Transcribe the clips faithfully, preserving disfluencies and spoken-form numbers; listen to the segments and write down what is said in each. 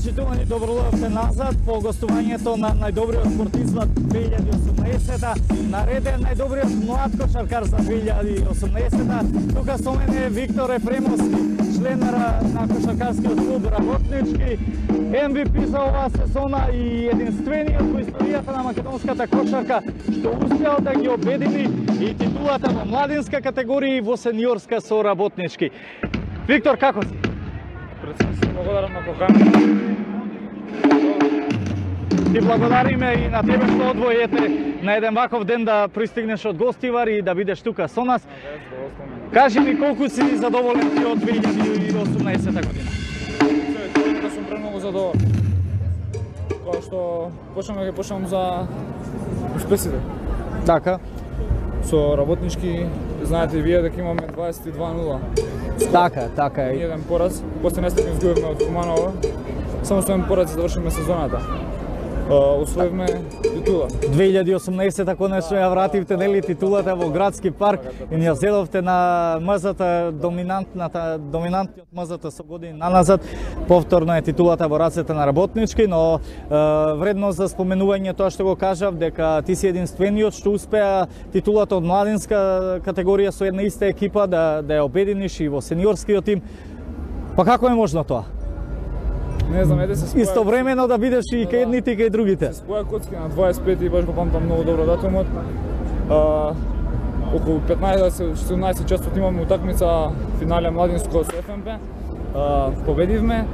Почитувани, добродојавте назад по гостувањето на најдобриот спортист за две илјади и осумнаесета. Наред е најдобриот млад кошаркар за две илјади и осумнаесета. Тука со мене е Виктор Ефремовски, член на кошаркарскиот клуб Работнички, Ем Ви Пи за оваа сезона и единствениот во историјата на македонската кошарка што успеал да ги обедини и титулата во младинска категорија и во сениорска со Работнички. Виктор, како си? Пред се се благодарам на поканата. Ти благодариме и на тебе што одвојете на еден ваков ден да пристигнеш од гостивар и да бидеш тука со нас. Кажи ми колку си задоволен ти од две илјади и осумнаесета година? Се, сум премногу задоволен. Кога што почнам да ги почнам за успесите. Така. Со Работнички, знаете и вие дека имаме дваесет и два нула. Така, така е. Еден пораз, после нестапни изгубивме од Куманова. Само со еден пораз завршиме сезоната. Освоивме титула. две илјади и осумнаесета конечно ја вративте нели титулата во градски парк и ни ја зедовте на мазата, доминантната доминантниот мазата со години наназад. Повторно е титулата во рацете на Работнички, но е, вредно за споменување тоа што го кажав дека ти си единствениот што успеа титулата од младинска категорија со една иста екипа да да ја обединиш и во сениорскиот тим. Па како е можно тоа? Не знам, еде се споја... Истовремено да бидеш и кај едните и кај другите. Се споја коцки на дваесет и пет и баш го памтам многу добро датумот. А, околу петнаесет седумнаесет часот имаме утакмица финале младинско со Еф Ем Пе. А, победивме.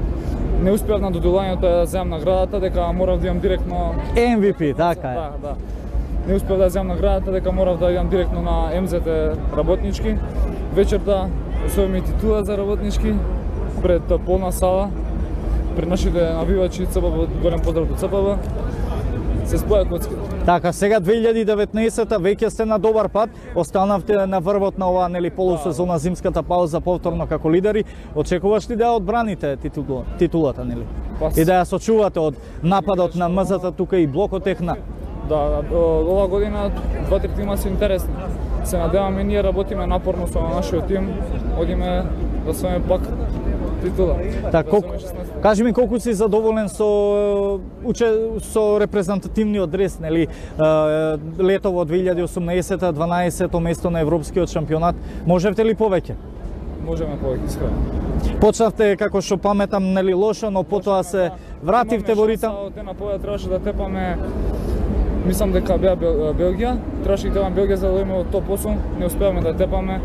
Не успеав на додолањето да земам наградата, дека морав да идам директно... Ем Ви Пи, така е. Да, да. Не успеав да земам наградата, дека морав да идам директно на Ем Зет Работнички. Вечерта освоиме титула за Работнички пред полна сала. Пред нашите навивачи Ц Б Б, голем поздрав до Ц Б Б. Се споја коцки. Така, сега две илјади и деветнаесета веќе сте на добар пат, останавте на врвот на оваа нели полусезона, зимската пауза повторно како лидери. Очекуваш ли да одбраните титула, титулата нели? Пас. И да ја сочувате од нападот на мазата тука и блокот техна? Да, оваа година два-три тима се интересни. Се надеваме, ние работиме напорно со нашиот тим, одиме да сме пак титула. Така, колку, кажи ми колку си задоволен со уче, со репрезентативниот дрес, нели? Лето во две илјади и осумнаесета, дванаесето место на европскиот шампионат. Можевте ли повеќе? Можеме повеќе, искрено. Почнавте како што паметам, нели лошо, но потоа се вративте во ритам. Од дена поја требаше да тепаме, мислам дека беа Белгија, требаше да тепаме Белгија за да дојдеме од топ осум, не успеавме да тепаме.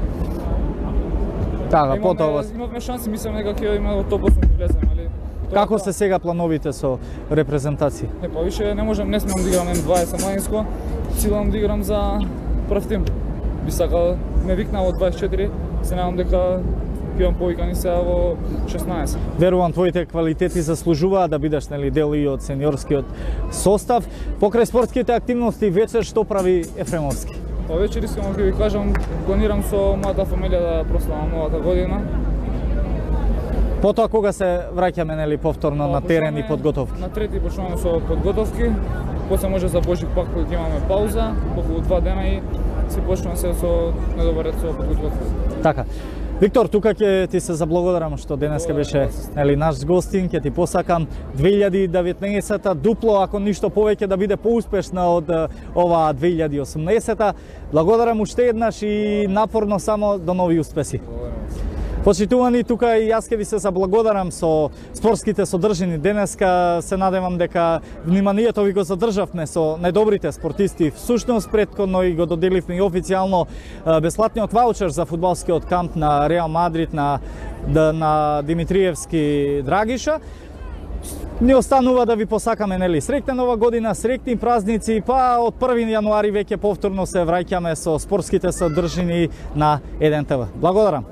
Така, потоа имавме шанси, мислам дека ќе има од топ осум да влеземе, али како се сега плановите со репрезентација? Не, па више не можам, не смеам да играм Ем дваесет младинско, силам да играм за прв тим. Би сакал, ме викна во дваесет и четири, се надам дека ќе имам повикани сега во шеснаесет. Верувам твоите квалитети заслужуваат да бидеш нели дел и од сениорскиот состав. Покрај спортските активности вечер што прави Ефремовски? Па вечер искам да ви кажам, планирам со мојата фамилија да прославам новата година. Потоа кога се враќаме нели повторно на терен и подготовки? На трети почнуваме со подготовки, после може за Божик пак кога имаме пауза, околу два дена и си почнуваме се со недобар ред со подготовки. Така. Виктор, тука ќе ти се заблагодарам што денеска беше нели наш гостин, ќе ти посакам две илјади и деветнаесета дупло, ако ништо повеќе да биде поуспешна од оваа две илјади и осумнаесета. Благодарам уште еднаш и напорно само до нови успеси. Почитувани, тука и јас ќе ви се заблагодарам со спортските содржини денеска. Се надевам дека вниманието ви го задржавме со најдобрите спортисти. Всушност претходно и го доделивме и официјално бесплатниот ваучер за фудбалскиот камп на Реал Мадрид на на Димитриевски Драгиша. Ни останува да ви посакаме нели среќна нова година, среќни празници, па од први јануари веќе повторно се враќаме со спортските содржини на еден Те Ве. Благодарам.